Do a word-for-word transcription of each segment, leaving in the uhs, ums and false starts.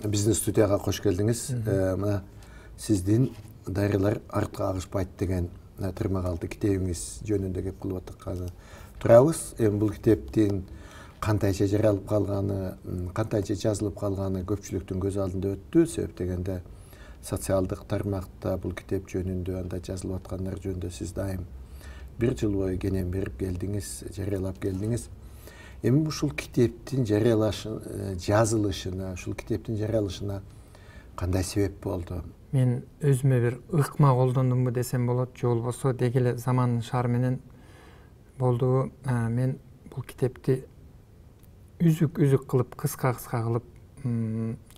биздин студияга кош келдиңиз. Мына сиздин дарыялар артка агышпайт деген тырмагалды китебиңиз жөнүндө кеп кылып атканы турабыз. Эми бул китептин кантайча жаралып калганы, кантайча жазылып калганы көпчүлүктүн көз алдында өттү. Себеп дегенде социалдык тармакта бул китеп жөнүндө анда жазылып аткандар жөнүндө сиз дайым бир жыл бою кенен берип келдиңиз, жарыялап келдиңиз. Эми ушул китептин жарыялашын, жазылышына, ушул китептин жарыялышына кандай себеп болду? Мен өзүмө бир ыкма колдондумбу десем болот, же болбосо деги эле замандын шаары менен болду. Мен бул китепти үзүк-үзүк кылып, кыска-кыска кылып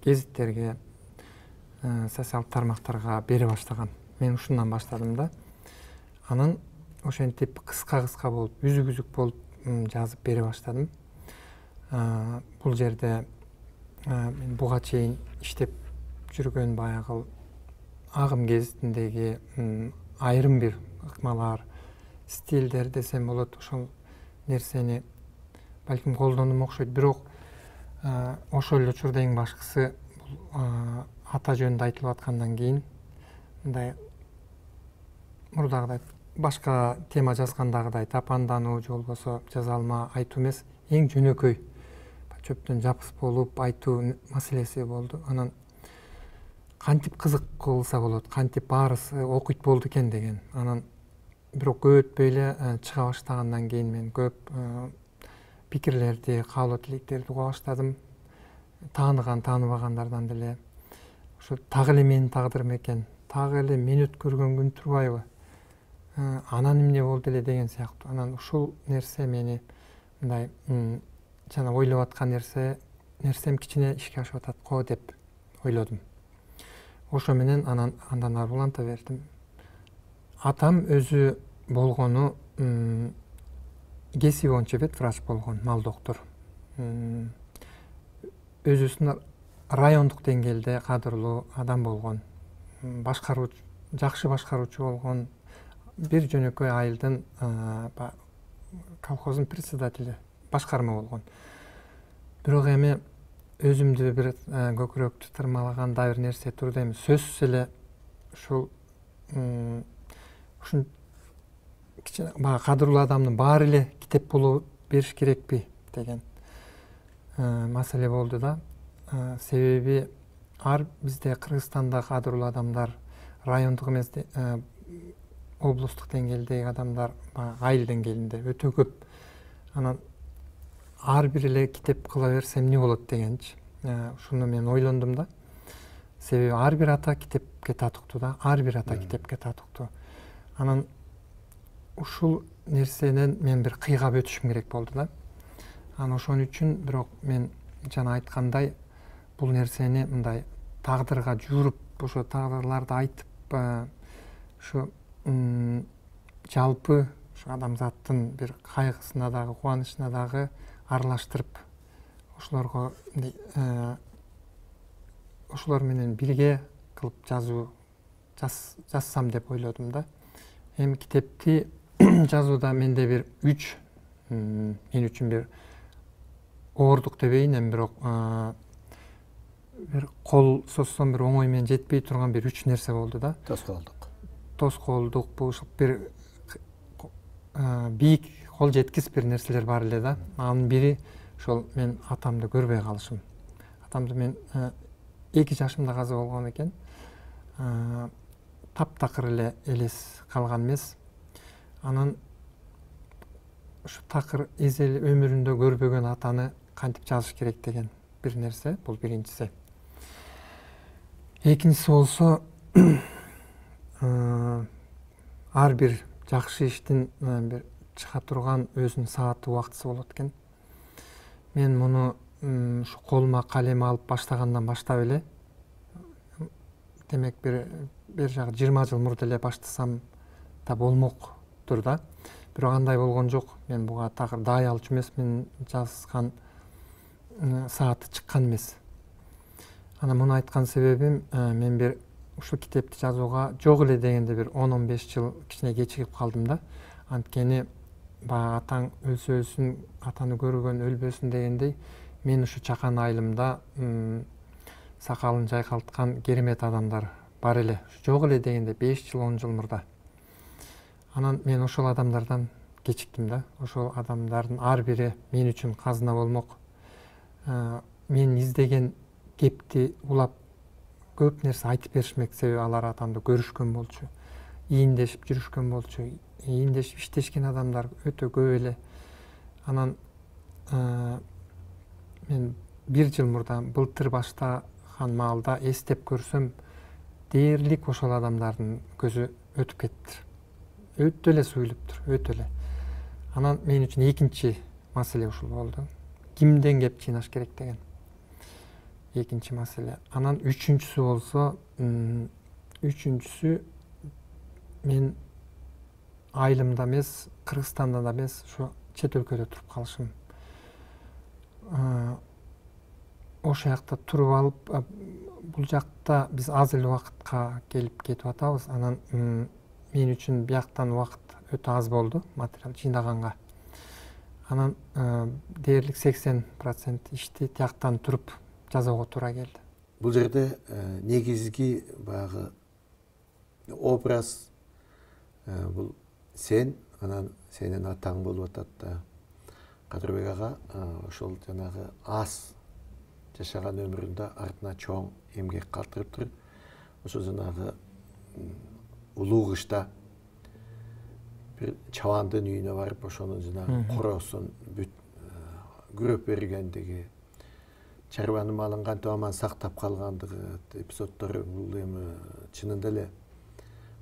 гезиттерге, социалдык тармактарга бере баштагам. Мен ушундан баштадым да. Анан ошентип кыска-кыска болуп, үзүк-үзүк болуп жазып бере баштадым. Бул жерде мен буга чейин иштеп жүргөн баягы агым гезитиндеги айрым бир ыкмалар, стилдер десем болот, ошол нерсени балким колдондум окшойт. Бирок ошол эле учурда эң башкысы бул ата жөнүндө айтылып аткандан кийин мындай мурдагыдай башка тема жазгандагыдай тапандануу же болбосо жаза алма айтуу эмес, эң жөнөкөй чөптөн жапыс болуп айтуу маселеси болду. Анан кантип кызык кылса болот, кантип баарысы окуйт болду экен деген. Анан бирок көп өтпөй эле чыга баштагандан кийин мен көп пикирлерди, каалоо тилектерди уга баштадым. Тааныган, тааныбагандардан деле ошо так эле менин тагдырым экен, так эле мен өткөргөн күн турбайбы, анан эмне болду эле деген сыяктуу. Анан ушул нерсе мени мындай жана ойлоп аткан нерсе нерсем кичине ишке ашып атат го деп ойлодум. Ошо менен анан андан ары уланта бердим. Атам өзү болгону кесиби боюнча ветврач болгон, мал доктор. Өзүсүн райондук деңгээлде кадырлуу адам болгон, башкаруучу, жакшы башкаруучу болгон, бир жөнөкөй айылдын колхоздун председатели, башкарма болгон. Бирок эми өзүмдү бир көкүрөктү тырмалаган да бир нерсе турду. Эми сөзсүз эле ушул ушун кичине баягы кадырлуу адамдын баары эле китеп боло бериш керекпи деген маселе болду да. Себеби ар бизде Кыргызстанда кадырлуу адамдар, райондук эмес облустук деңгээлдеги адамдар айыл деңгээлинде өтө көп. Анан ар бир эле китеп кыла берсем эмне болот дегенчи. Ушуну мен ойлондум да. Себеби ар бир ата китепке татыктуу да, ар бир ата китепке татыктуу. Анан ушул нерсенен мен бир кыйгап өтүшүм керек болду да. Анан ошон үчүн бирок мен жана айткандай бул нерсени мындай тагдырга жууруп, ошо тагдырларды айтып, ушу жалпы ушу адамзаттын бир кайгысына дагы, кубанычына дагы аралаштырып, ошолорго ошолор менен бирге кылып жазуу жазсам деп ойлодум да. Эми китепти жазууда менде бир үч, мен үчүн бир оордук дебейин, эми бирок бир кол созсом бир оңой менен жетпей турган бир үч нерсе болду да. Тоскоолдук. Тоскоолдук, бул ушул бир бийик кол жеткис бир нерселер бар эле да. Анын бири ошол мен атамды көрбөй калышым. Атамды мен эки жашымда каза болгон экен. Таптакыр эле элес калган эмес. Анан ушу такыр эзел өмүрүндө көрбөгөн атаны кантип жазыш керек деген бир нерсе, бул биринчиси. Экинчиси болсо ар бир жакшы иштин бир чыга турган өзүнүн сааты, убактысы болот экен. Мен муну ушу колума калем алып баштагандан баштап эле, демек бир бир жагы жыйырма жыл мурда эле баштасам да болмоктур да. Бирок андай болгон жок. Мен буга такыр даай алчу эмесмин, жазган сааты чыккан эмес. Анан муну айткан себебим, мен бир ушул китепти жазууга жок эле дегенде бир он он беш жыл кичине кечигип калдым да. Анткени баягы атаң өлсө өлсүн, атаны көргөн өлбөсүн дегендей, мен ушу чакан айылымда сакалын жайкалткан керемет адамдар бар эле. Жок эле дегенде беш жыл он жыл мурда. Анан мен ошол адамдардан кечиктим да. Ошол адамдардын ар бири мен үчүн казына болмок. Мен издеген кепти улап көп нерсе айтып беришмек, себеби алар атамды көрүшкөн болчу, ийиндешип жүрүшкөн болчу, ийиндешип иштешкен адамдар өтө көп эле. Анан мен бир жыл мурда былтыр баштаган маалда эстеп көрсөм, дээрлик ошол адамдардын көзү өтүп кетиптир. Өтө эле суюлуптур, өтө эле. Анан мен үчүн экинчи маселе ушул болду. Кимден кеп чыйнаш керек деген экинчи маселе. Анан үчүнчүсү болсо, үчүнчүсү мен айылымда эмес, Кыргызстанда да эмес, ушу чет өлкөдө туруп калышым. Ошол жакта туруп алып, бул жакта биз аз эле убакытка келип кетип атабыз. Анан мен үчүн бияктан убакыт өтө аз болду материал жыйнаганга. Анан дээрлик сексен процент ишти тияктан туруп жасоого туура келди. Бул жерде негизги баягы образ бул сен, анан сенин атаң болуп атат да. Кадырбек ага ошол жанагы аз жашаган өмүрүндө артына чоң эмгек калтырыптыр. Ошо жанагы улуу кышта бир чабандын үйүнө барып, ошонун жанагы короосун бүт күрөп бергендиги, чарбанын малын кантип аман сактап калгандыгы эпизоддору бул эми чынында эле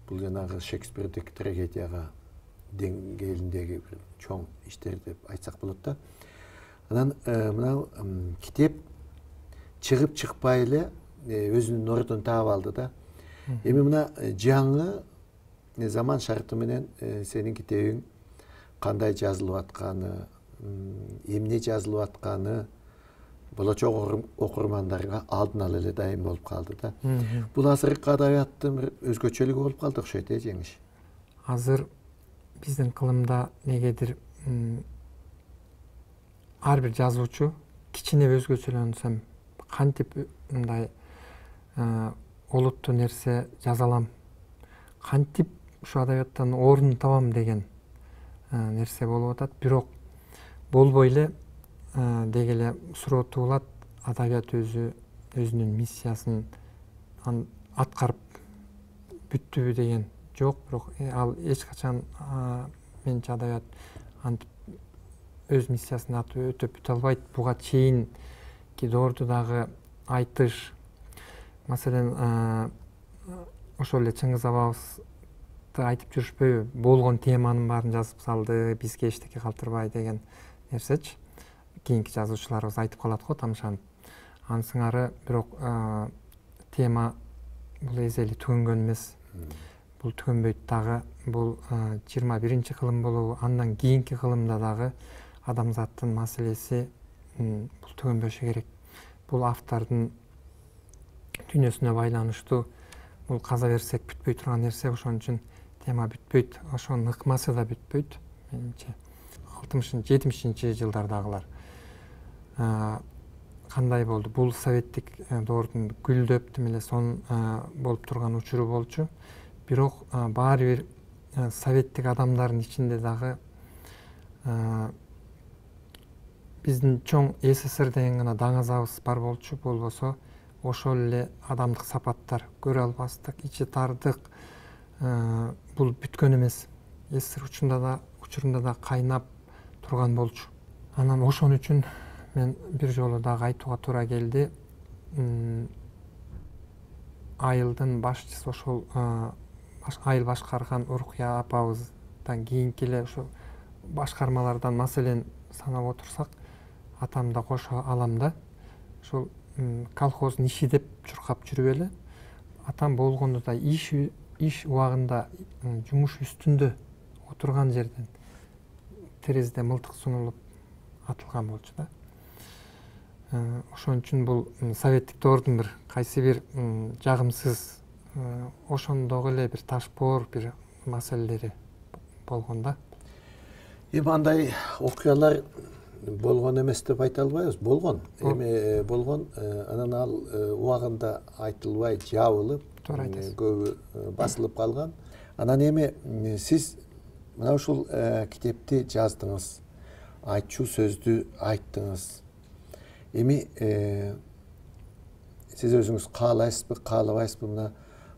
бул жанагы Шекспирдик трагедияга деңгээлиндеги бир чоң иштер деп айтсак болот да. Анан мына китеп чыгып чыкпай эле өзүнүн ордун таап алды да. Эми мына жаңы заман шарты менен сенин китебиң кандай жазылып атканы, эмне жазылып атканы болочок окурмандарга алдын ала эле дайым болуп калды да. Бул азыркы адабияттын бир өзгөчөлүгү болуп калды окшойт, э, жеңиш. Азыр биздин кылымда негедир ар бир жазуучу кичине өзгөчөлөнсөм, кантип мындай олуттуу нерсе жаза алам, кантип ушу адабияттан орун табам деген нерсе болуп атат. Бирок болбой эле деги эле суроо туулат, адабият өзү өзүнүн миссиясын аткарып бүттүбү деген жок. Бирок ал эч качан менчи адабият антип өз миссиясын өтөп бүтө албайт. Буга чейин кидоорду дагы айтыш, маселен ошол эле Чыңгыз абабызды айтып жүрүшпөйбү, болгон теманын баарын жазып салды, бизге эчтеке калтырбай деген нерсечи. Кийинки жазуучуларыбыз айтып калат го тамшанып. Анын сыңары, бирок тема бул эзели түгөнгөн эмес. Бул түгөнбөйт дагы. Бул жыйырма биринчи кылым болобу, андан кийинки кылымда дагы адамзаттын маселеси бул түгөнбөшү керек. Бул автордун дүйнөсүнө байланыштуу. Бул каза берсек бүтпөй турган нерсе, ошон үчүн тема бүтпөйт, ошонун ыкмасы да бүтпөйт менимче. алтымышынчы жетимишинчи жылдардагылар кандай болду? Бул советтик доордун гүлдөп тим эле сонун болуп турган учуру болчу. Бирок баары бир советтик адамдардын ичинде дагы биздин чоң СССР деген гана даңазабыз бар болчу. Болбосо ошол эле адамдык сапаттар, көрө албастык, ичи тардык, бул бүткөн эмес. СССР учурунда да учурунда да кайнап турган болчу. Анан ошон үчүн мен бир жолу дагы айтууга туура келди. Айылдын башчысы, ошол айыл башкарган Уркуя апабыздан кийинки эле ошо башкармалардан маселен санап отурсак, атам да кошо алам да. Ошол колхоздун иши деп чуркап жүрүп эле, атам болгондо да иш иш убагында жумуш үстүндө отурган жерден терезеде мылтык сунулуп атылган болчу да. Ошон үчүн бул советтик доордун бир кайсы бир жагымсыз, ошондогу эле бир ташпоор бир маселелери болгон да. Эми андай окуялар болгон эмес деп айта албайбыз. Болгон. Эми болгон, анан ал убагында айтылбай жабылып, көбү басылып калган. Анан эми сиз мына ушул китепти жаздыңыз, айтчу сөздү айттыңыз. Эми сиз өзүңүз каалайсызбы, каалабайсызбы, мына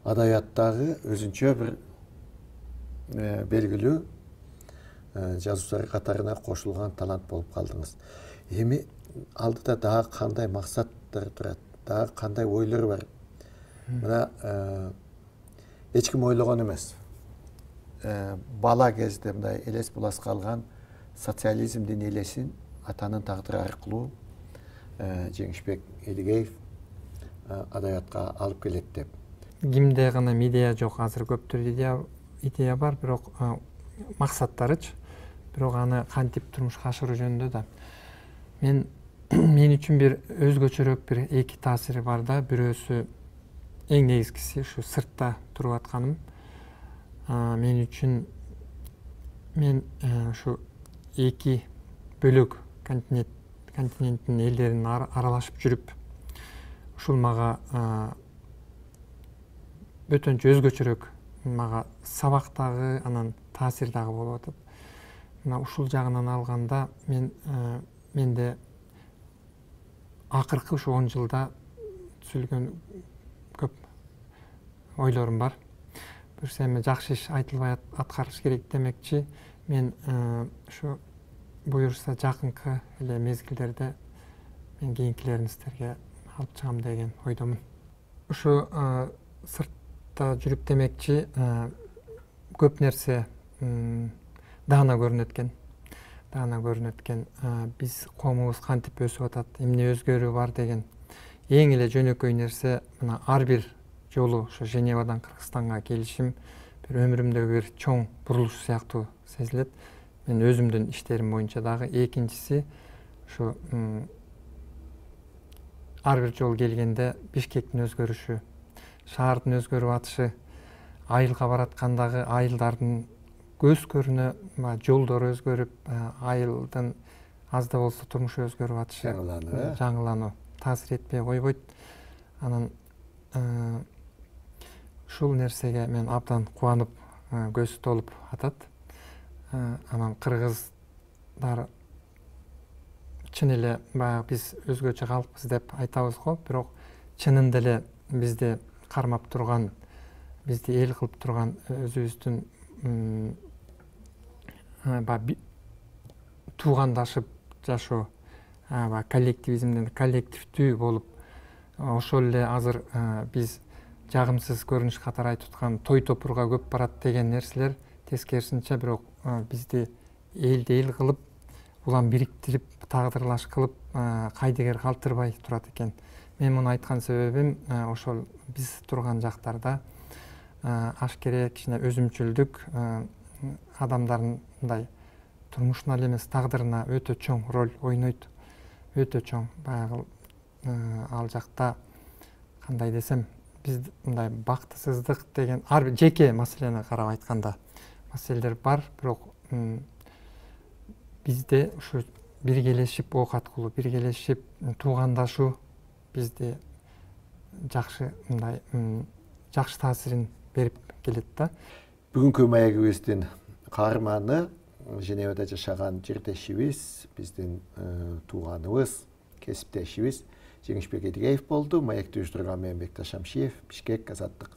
адабияттагы өзүнчө бир белгилүү жазуучулар катарына кошулган талант болуп калдыңыз. Эми алдыда дагы кандай максаттар турат, дагы кандай ойлор бар? Мына эч ким ойлогон эмес. Бала кезде мындай элес булас калган социализмдин элесин атанын тагдыры аркылуу Жеңишбек Элигеев адабиятка алып келет деп. Кимде гана идея жок, азыр көптөр идея идея бар, бирок максаттарычы, бирок аны кантип турмушка ашыруу жөнүндө да. Мен мен үчүн бир өзгөчөрөөк бир эки таасири бар да. Бирөөсү эң негизгиси ушу сыртта туруп атканым. Мен үчүн мен ушу эки бөлөк континент континенттин элдерин аралашып жүрүп, ушул мага бөтөнчө өзгөчөрөөк мага сабак дагы, анан таасир дагы болуп атат. Мына ушул жагынан алганда мен менде акыркы ушу он жылда түзүлгөн көп ойлорум бар. Бир эми жакшы иш айтылбай аткарыш керек демекчи, мен ушу буюрса жакынкы эле мезгилдерде мен кийинкилерин сиздерге алып чыгам деген ойдомун. Ушу сыртта жүрүп демекчи, көп нерсе даана көрүнөт экен. Даана көрүнөт экен. Биз коомубуз кантип өсүп атат, эмне өзгөрүү бар деген эң эле жөнөкөй нерсе мына ар бир жолу ошо Женевадан Кыргызстанга келишим бир өмүрүмдөгү бир чоң бурулуш сыяктуу сезилет. Мен өзүмдүн иштерим боюнча дагы. Экинчиси ушу ар бир жолу келгенде Бишкектин өзгөрүшү, шаардын өзгөрүп атышы, айылга бараткандагы айылдардын көз көрүнө жолдору өзгөрүп, айылдын аз да болсо турмушу өзгөрүп атышы, жаңылануу таасир этпей койбойт. Анан ушул нерсеге мен абдан кубанып, көз толуп атат. Анан кыргыздар чын эле баягы биз өзгөчө калкпыз деп айтабыз го, бирок чынында эле бизди кармап турган, бизди эл кылып турган өзүбүздүн туугандашып жашоо, коллективизмден коллективдүү болуп, ошол эле азыр биз жагымсыз көрүнүш катары айтып аткан той топурга көп барат деген нерселер тескерисинче бирок бизди элди эл кылып, улам бириктирип, тагдырлаш кылып, кайдыгер калтырбай турат экен. Мен муну айткан себебим ошол биз турган жактарда ашкере кичине өзүмчүлдүк адамдардын мындай турмушуна эле эмес тагдырына өтө чоң роль ойнойт. Өтө чоң. Баягы ал жакта кандай десем, биз мындай бактысыздык деген ар бир жеке маселени карап айтканда маселелер бар, бирок бизде ушу биргелешип оокат кылуу, биргелешип туугандашуу бизди жакшы мындай жакшы таасирин берип келет да. Бүгүнкү маегибиздин каарманы Женевада жашаган жердешибиз, биздин тууганыбыз, кесиптешибиз Жеңишбек Элигеев болду. Маекти уюштурган мен Бекташ Шамшиев, Бишкек, Азаттык.